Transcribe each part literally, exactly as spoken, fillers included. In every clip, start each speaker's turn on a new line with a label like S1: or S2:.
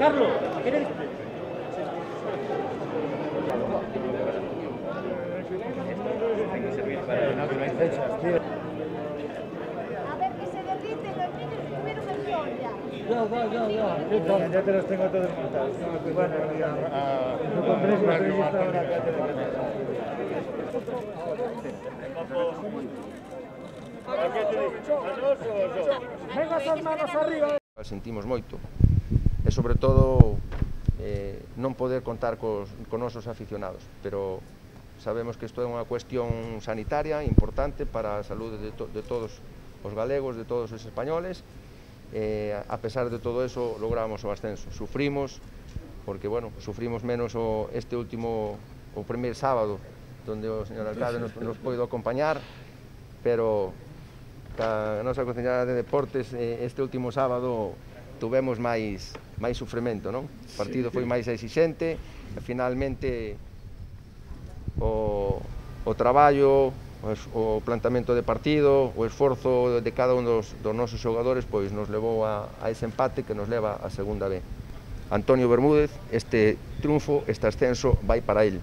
S1: Carlos, ¿quieres?
S2: A ver, que se derriten los niños y tuvieron el sol ya.
S3: Ya, ya, ya, ya. Ya te los tengo todos montados. Bueno, ya. No compréis la entrevista ahora.
S1: Venga, as manos arriba.
S4: Sentimos moito e sobre todo eh, non poder contar cos, con nosos aficionados, pero sabemos que isto é unha cuestión sanitaria importante para a saúde de, to, de todos os galegos, de todos os españoles. Eh, a pesar de todo eso logramos o ascenso. Sufrimos, porque bueno, sufrimos menos o, este último, o primer sábado, donde o señor alcalde nos, nos poido acompañar, pero a nosa Conselleira de Deportes este último sábado tuvemos máis máis sufrimento, non? O partido foi máis exixente e finalmente o, o traballo, o plantamento de partido, o esforzo de cada un dos, dos nosos xogadores pois nos levou a, a ese empate que nos leva a segunda B. Antonio Bermúdez, este triunfo, este ascenso vai para el.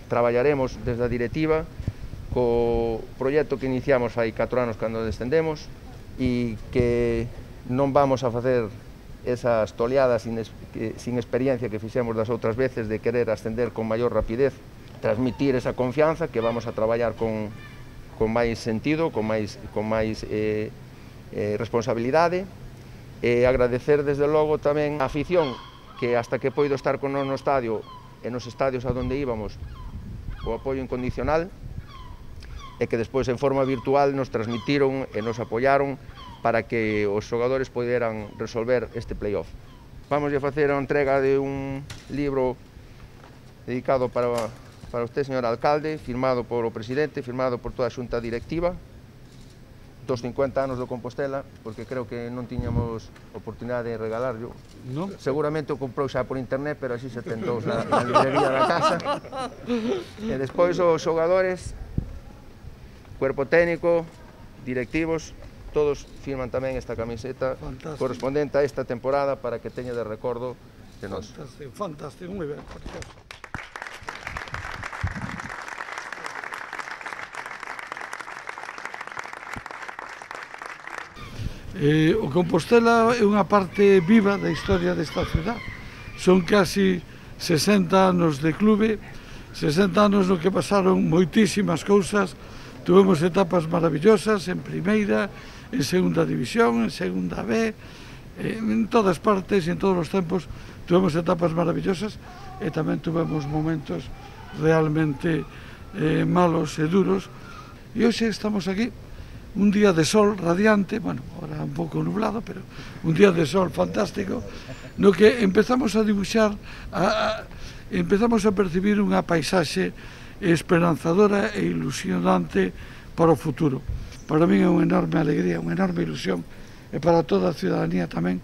S4: Traballaremos desde a directiva co proxecto que iniciamos hai catro anos cando descendemos e que non vamos a facer esas toleadas sin, sin experiencia que fixemos das outras veces de querer ascender con maior rapidez, transmitir esa confianza que vamos a traballar con, con máis sentido, con máis, con máis eh, eh, responsabilidade e agradecer desde logo tamén a afición que hasta que poido estar con nos no estadio e nos estadios a donde íbamos o apoio incondicional e que despois en forma virtual nos transmitiron e nos apoyaron para que os xogadores poderan resolver este playoff. Vamos a facer a entrega de un libro dedicado para, para usted, señor alcalde, firmado por o presidente, firmado por toda a xunta directiva, dos cincuenta anos do Compostela, porque creo que non tiñamos oportunidade de regalarlo.
S3: Non?
S4: Seguramente o comprou xa por internet, pero así se tentou na, na librería da casa. E despois os xogadores, cuerpo técnico, directivos, todos firman tamén esta camiseta fantástico, correspondente a esta temporada para que teña de recordo de nós.
S3: Fantástico, fantástico, moi ben, precioso. Eh, o Compostela é unha parte viva da historia desta ciudad. Son casi sesenta anos de clube, sesenta anos no que pasaron moitísimas cousas. Tuvemos etapas maravillosas en primeira, en segunda división, en segunda B, en todas partes e en todos os tempos tuvemos etapas maravillosas e tamén tuvemos momentos realmente eh, malos e duros. E hoxe estamos aquí, un día de sol radiante, bueno, ahora un pouco nublado, pero un día de sol fantástico, no que empezamos a dibuixar, a, a, empezamos a percibir unha paisaxe esperanzadora e ilusionante para o futuro. Para mí é unha enorme alegría, unha enorme ilusión e para toda a ciudadanía tamén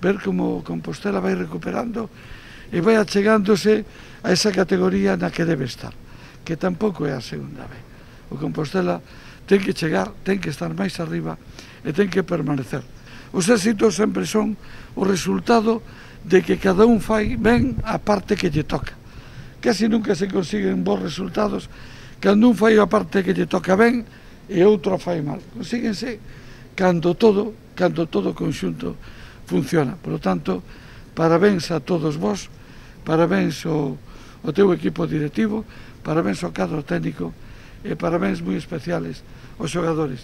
S3: ver como Compostela vai recuperando e vai achegándose a esa categoría na que debe estar, que tampouco é a segunda B. O Compostela ten que chegar, ten que estar máis arriba e ten que permanecer. Os éxitos sempre son o resultado de que cada un fai ben a parte que lle toca. Casi nunca se consiguen bons resultados cando un fai a parte que lle toca ben e outro fai mal. Consíguense cando todo, cando todo o conxunto funciona. Por lo tanto, parabéns a todos vós, parabéns ao, ao teu equipo directivo, parabéns ao cadro técnico e parabéns moi especiales aos xogadores.